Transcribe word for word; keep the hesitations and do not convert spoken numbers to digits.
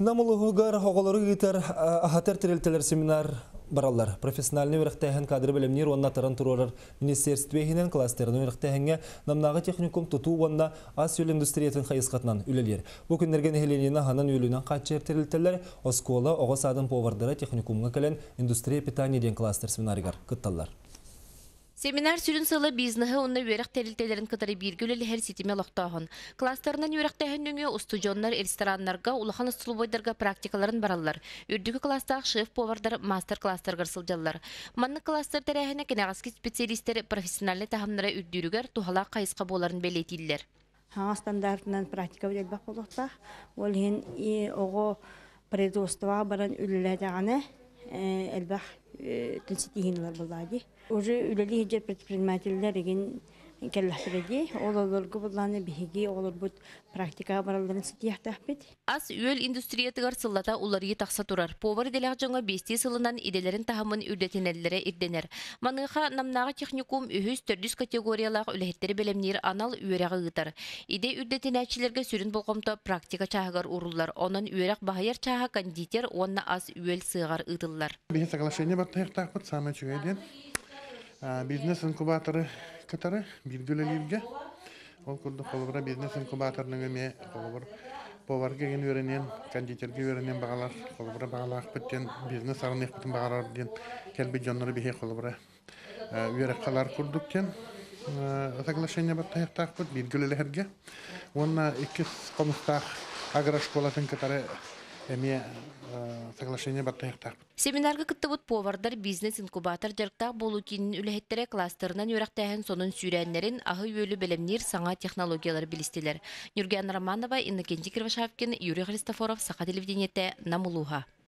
Намылығығар оғылары гитар ахатар тірелтелер семинар баралар. Профессиональный өріқтәйін кадры білімнер онна таран тұрорар министерствейінен кластерінің өріқтәйінге намнағы техникум тұту онна ас өл индустриятын қайысқатынан үлелер. Бұл күндерген әйленені ханан өлінен қатшер тірелтелер оскола оғыз адым повардары техникумға кәлін индустрия питанияден кластер семинаригар күтталар. Семинар сүрін сылы бизнесі онны өрек тәрілтелерін кытары биргілі әр сетіме лоқтағын. Кластерынан өректәйін өңі ұстудионлар, ресторанларға, улахан ұстылбойдарға практикаларын баралар. Үрдігі кластағы шеф-повардар мастер-кластар ғырсылдалар. Манны кластер тәрәхіне кенағаскі специалистер профессиональный тағымнара үрдірігер тухала қайысқа боларын бәлетейлер. Хаңа стандартынан практика өделбақ болуқта. Ол ең оғы производствоға баран үліләдіғаны әлбақ тінсетігінлер болады. Уже үлелі хеджер предпринимательлер еген келләхтереди, олаларғы бұлланы бігеге олар бұд практикаға бараларын сетияқтақ бет. Ас үйел индустриятығар сыллата уларығы тақса тұрар. Повар деләқ жоңа бесте сылынан иделерін тахымын үрдетенелері ирденер. Маныға намнаға техникум үхіз төрдіс категориялақ үләхеттері белемнер анал үйерәғы ғытар. Иде үрдетенәчілерге сүрін болғымта практика чағығар урулар. Онын үйерәқ бағайар чаға кондитер, онна ас үйел сығар ұдылар. Бизнес-инкубаторы катары билгелелерге ол курдук холбора бизнес-инкубаторның эме холбор поварга ген өренен кондитерге өренен багалар холбора багалак беттен бизнес арны беттен багалар ден келби жоннору бихе холбора үйрәккалар курдук кен соглашение баттаяктак бут билгелелерге онна икки комстах агрошколатын катары эме соглашение баттаяктак. Семинарға кыттыбыт повардар бизнес-инкубатор жарықтақ болу кейінің үләхеттері кластерынан өрәқтәйін сонын сүйрәнлерін ағы өлі білімнер саңа технологиялар білістелер. Нюрген Романова, Иннокентий Кривошавкин, Юрий Христофоров, Сақа телевидениеті, Намулуға.